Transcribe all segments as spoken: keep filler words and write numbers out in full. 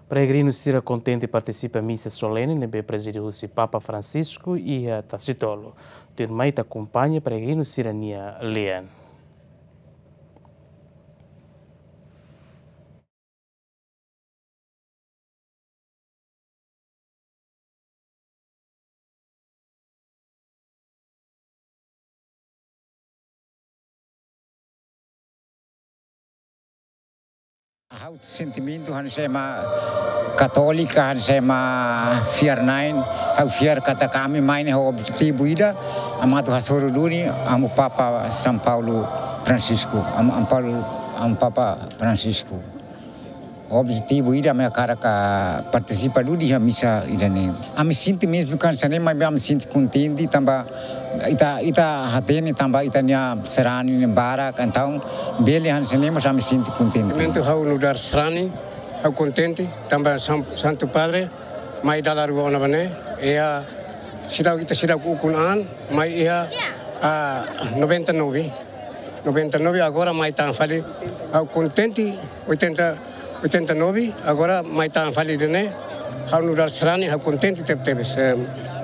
Peregrinu sira kontente partisipa misa solene ne'ebé prezide husi Papa Francisco iha Tasitolu. Tuirmai ita akompaña peregrinu sira-nia lian. Ha'u sentimentu hanesan ema katólika, hanesan ema fiar-na'in, ha'u fiar katak ami mai ne'e ho objetivu ida, ema atu hasoru duni Amu Papa São Paulo Francisco, Amu, Amu Paulo, Amu Papa Francisco. Objetivu ida ami hakarak partisipa duni iha misa ida-ne'e. Ami sente mezmu kansadu, maibé ami sente kontente tanba ita, ita hatene tanba ita-nia sarani ne'e barak, entaun bele hanesan ne'e mós ami sente kontente. Momentu ha'u nu'udar sarani, ha'u kontente tanba San-, Santu Padre mai dala rua ona ba ne'e, iha seidauk, ita seidauk ukun an, mai iha, ah, noventa e nove. Noventa e nove, agora mai tan fali. Ha'u kontente, oitenta, oitenta e nove, agora mai tan fali ida-ne'e. Ha'u nu'udar sarani, ha'u kontente tebetebes. Eh,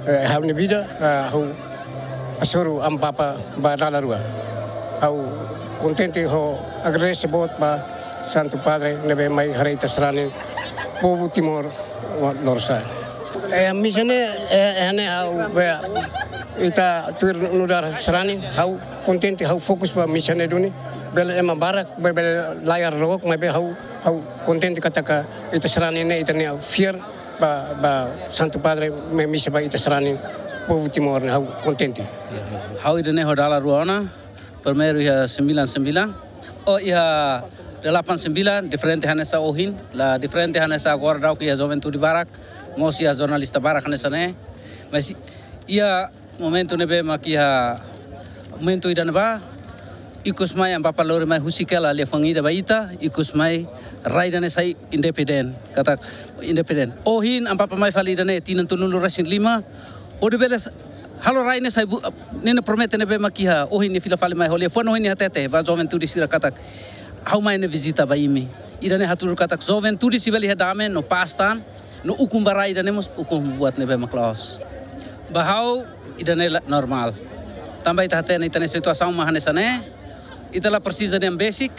eh, ha'u-nia vida, ah, ha'u hasoru Amu Papa ba dala rua. Ha'u kontente ho agradese boot ba Santu Padre ne'ebé mai haree ita sarani povu Timor Lorosa'e. Eh, misa ne'e, eh, eh, ne'e ha'u, be, ita tuir nu'udar sarani, ha'u kontente, ha'u fokus ba misa ne'e duni. Bele ema barak, be-, bele layar rok, maibé ha'u, ha'u kontente katak ita sarani ne'e, ita-nia fiar ba, ba Santu Padre mai misa ba ita sarani povu Timor ne'e, ha'u kontente. Ha'u ida-ne'e ho dala rua ona, primeiru iha sembilan sembilan, oh, iha delapan sembilan, diferente hanesan ohin, la diferente hanesan agora daudaun iha juventude barak, mós iha jornalista barak hanesan ne'e. Mas iha momentu ne'ebé mak iha momentu ida-ne'ebá, ikus mai Amu Papa lori mai husik hela liafuan ida ba ita, ikus mai rai ida-ne'e sai independen, katak independen. Ohin Amu Papa mai fali ida-ne'e tinan tolunulu-resin-lima, hodi bele s-, halo rai ne'e sai bu-, ne'e ne'e promete ne'ebé mak iha, ohin nia fila fali mai ho liafuan ohin nia hatete ba juventude sira katak ha'u mai ne'e vizita ba imi. Ida-ne'e hatudu katak juventude sei bele iha dame no pás tan, no ukun ba rai ida-ne'e mós ukun buat ne'ebé mak la'ós. Ba ha'u ida-ne'e la-, normál. Tanba ita hatene ita-nia situasaun mak hanesan ne'e, ita la presiza dehan besik,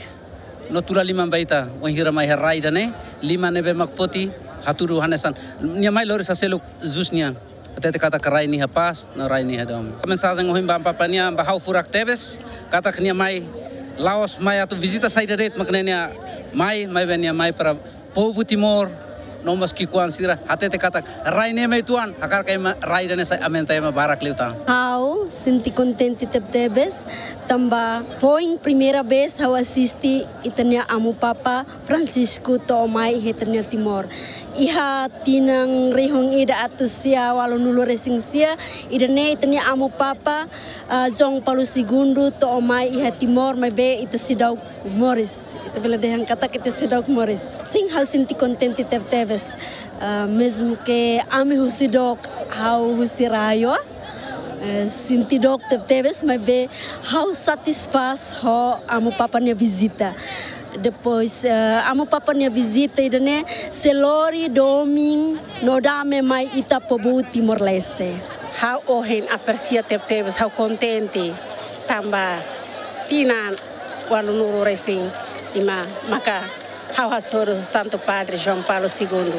no tula liman ba ita, wainhira mai iha rai ida-ne'e, liman ne'ebé mak foti, hatudu hanesan. Nia mai lori sa seluk jus nian. Hatete katak rai ne'e iha pás, no rai ne'e iha dame. Mensajen ohin ba Amu Papa nian, ba ha'u furak tebes, katak nia mai, la'ós mai atu vizita saida de'it, mak ne'e nia mai, maibé nia mai para povu Timor, no mós ki'ikoan sira, hatete katak rai ne'e mai tuan, hakarak ema rai ida-ne'e sai aumenta ema barak liután. Ha'u sente kontente tebetebes, tanba foin primeira vez ha'u asiste ita-nia Amu Papa Francisco to'o mai iha ita-nia Timor. Iha tinan rihun ida atus sia ualunulu-resin-sia, ida-ne'e ita-nia Amu Papa, ah, João Paulo Segundo to'o mai iha Timor, maibé ita seidauk moris. Ita bele dehan katak ita seidauk moris. Sin, ha'u sente kontente tebetebes. Ah, mezmu ke ami husi dook, ha'u husi rai, eh, sente dook tebetebes, maibé ha'u satisfás ho Amu Papa nia vizita. Depois, eh, Amu Papa nia vizita ida-ne'e sei lori domin no dame mai ita povu Timor-Leste. Ha'u ohin apresia tebetebes, ha'u kontente tanba tinan ualunulu-resin-lima maka ha'u hasoru Santu Padre João Paulo Segundo.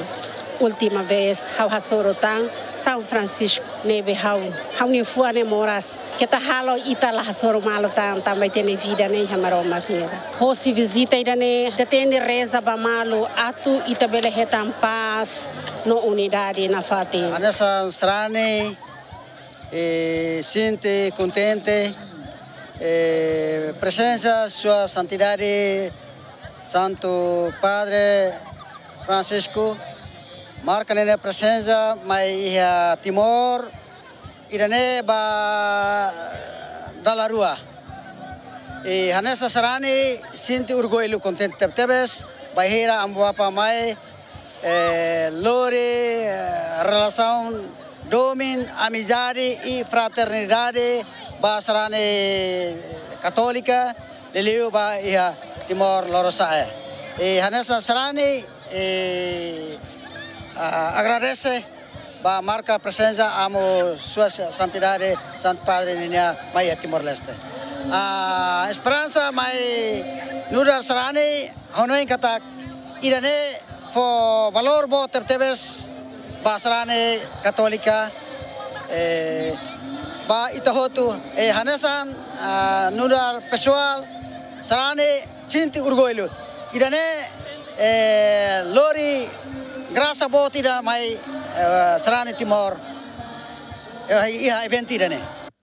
Última vez ha'u hasoru tan São Francisco ne'ebé ha'u, ha'u-nia fuan ne'e moras. Keta halo ita la hasoru malu tan, tanba ita-nia vida ne'e iha Maromak nian. Hosi vizita ida-ne'e, ita tenke reza ba malu atu ita bele hetan pás no unidade nafatin. Hanesan sarani, eh, sente kontente, eh, prezensa Sua Santidade Santu Padre Francisco, marka nia prezensa mai iha Timor, ida-ne'e ba dala rua. I hanesan sarani sente orgullu, kontente tebetebes, bainhira Amu Papa mai, eh, lori, eh, relasaun domin, amizade i fraternidade ba sarani katólika, liuliu ba iha Timor Lorosa'e. I hanesan sarani, eh, Ah, agradese ba marka prezensa Amu Sua Santidade Santu Padre ninia mai iha Timor-Leste. Ah, esperansa mai nu'udar sarani hanoin katak ida-ne'e fó valór boot tebetebes ba sarani katólika, eh, ba ita hotu, eh, hanesan, ah, nu'udar pesoál sarani sente orgullu. Ida-ne'e, eh, lori grasa boot ida mai, eh, sarani Timor, eh, iha eventu ida-ne'e.